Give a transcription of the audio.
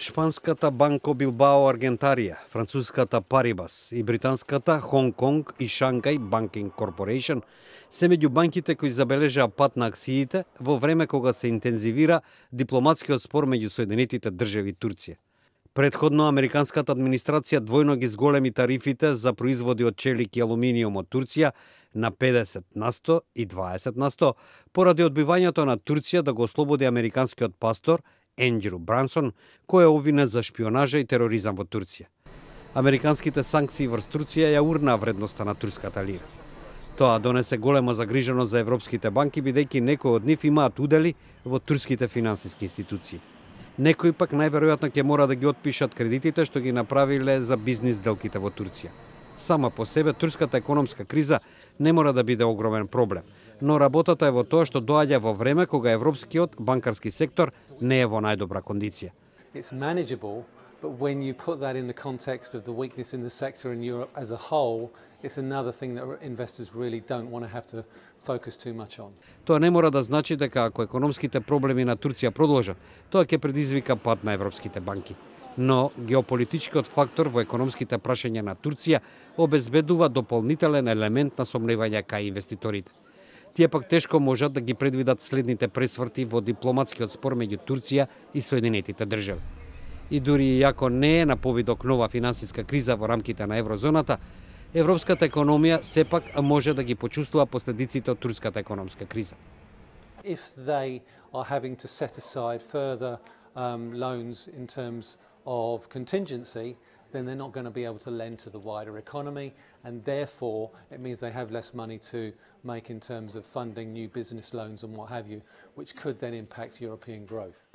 Шпанската Банко Билбао Аргентарија, француската Парибас и британската Хонг Конг и Шангај Банкинг Корпорејшн се меѓу банките кои забележаа пат на акциите во време кога се интензивира дипломатскиот спор меѓу Соединетите држави и Турција. Претходно, американската администрација двојно ги зголеми тарифите за производи од челик и алуминиум од Турција на 50% и 20% поради одбивањето на Турција да го ослободи американскиот пастор Ендрю Брансон, кој е обвинет за шпионажа и тероризам во Турција. Американските санкции врз Турција ја урнаа вредноста на турската лира. Тоа донесе голема загриженост за европските банки, бидејќи некои од нив имаат удели во турските финансиски институции. Некои пак најверојатно ќе мора да ги отпишат кредитите што ги направиле за бизнис делките во Турција. Сама по себе турската економска криза не мора да биде огромен проблем, но работата е во тоа што доаѓа во време кога европскиот банкарски сектор не е во најдобра кондиција. It's manageable, but when you put that in the context of the weakness in the sector in Europe as a whole, it's another thing that investors really don't want to have to focus too much on. Тоа не мора да значи дека ако економските проблеми на Турција продолжат, тоа ќе предизвика пад на европските банки. Но геополитичкиот фактор во економските прашања на Турција обезбедува дополнителен елемент на сомневање кај инвеститорите. Тие пак тешко можат да ги предвидат следните пресврти во дипломатскиот спор меѓу Турција и Соединетите држави. И дури иако не е на повидок нова финансиска криза во рамките на еврозоната, европската економија сепак може да ги почувствува последиците од турската економска криза. If they are having to set aside further loans in terms of contingency, then they're not going to be able to lend to the wider economy, and therefore it means they have less money to make in terms of funding new business loans and what have you, which could then impact European growth.